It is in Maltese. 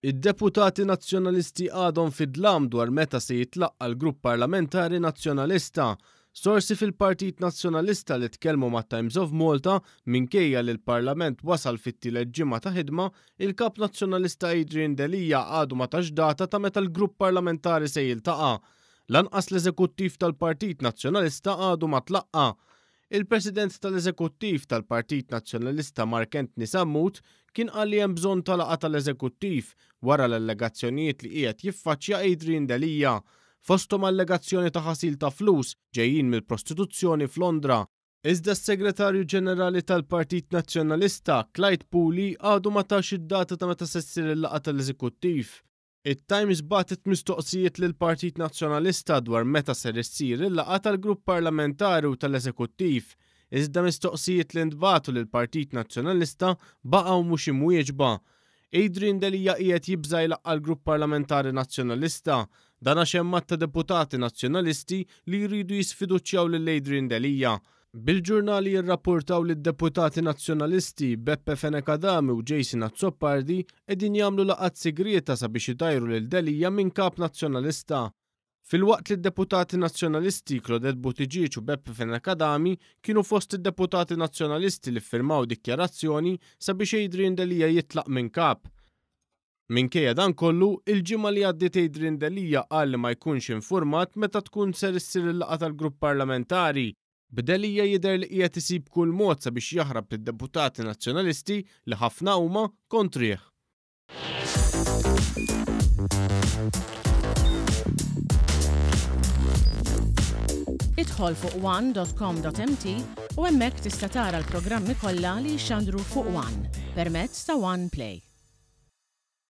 Id-deputati Nazzjonalisti għadhom fid-dlam dwar meta se jitlaqqa' l-Grupp Parlamentari Nazzjonalista. Sorsi fil-Partit Nazzjonalista li tkellmu mat-Times of Malta, minkejja li l-Parlament wasal fit-tielet ġimgħa ta' ħidma, il-Kap Nazzjonalista Adrian Delia għadu ma tax data ta' meta l-Grupp Parlamentari se jiltaqa'. Lanqas l-Eżekuttiv tal-Partit Nazzjonalista għadu ma tlaqqa'. Il-President tal-Eżekuttiv tal-Partit Nazzjonalista Mark Anthony Sammut kien qal li hemm bżonn ta' laqgħa tal-Eżekuttiv wara l-allegazzjonijiet li qiegħed jiffaċċja Adrian Delia, fosthom allegazzjoni ta' ħasil ta' flus ġejjin mill-prostituzzjoni f'Londra. Iżda s-Segretarju Ġenerali tal-Partit Nazzjonalista, Clyde Puli, għadu ma tax id-data ta' meta se ssir il-laqgħa tal-Eżekuttiv. It-Times bagħtet mistoqsijiet lill-Partit Nazzjonalista dwar meta ser issir il-laqgħa tal-Grupp Parlamentari u tal-Eżekuttiv, iżda mistoqsijiet li ntbagħtu lill-Partit Nazzjonalista baqgħu mhux imwieġba. Adrian Delia qiegħed jibża' jlaqqa' l-Grupp Parlamentari Nazzjonalista. Dan għax hemm għadd ta' deputati Nazzjonalisti li jridu jisfiduċjaw lil Adrian Delia. Bil-ġurnali jirrapportaw li d-deputati Nazzjonalisti Beppe Fenech Adami u Jason Azzopardi qegħdin jagħmlu laqgħat sigrieta sabiex idajru lil Delia minn Kap Nazzjonalista. Filwaqt li d-deputati Nazzjonalisti Claudette Buttigieg u Beppe Fenech Adami kienu fost id-deputati Nazzjonalisti li ffirmaw dikjarazzjoni sabiex Adrian Delia jitlaq minn Kap. Minkejja dan kollu, il-ġimgħa li għaddiet Adrian Delia qal li ma jkunx infurmat meta tkun ser issir il-laqgħa tal-grupp parlamentari, b'Delia jidher li qiegħed isib kull mod sabiex jaħrab lid-deputati Nazzjonalisti li ħafna huma kontrih. Idħol fuq one.com.mt u hemmhekk tista' tara l-programmi kollha li jixxandru fuq One permezz ta' One Play.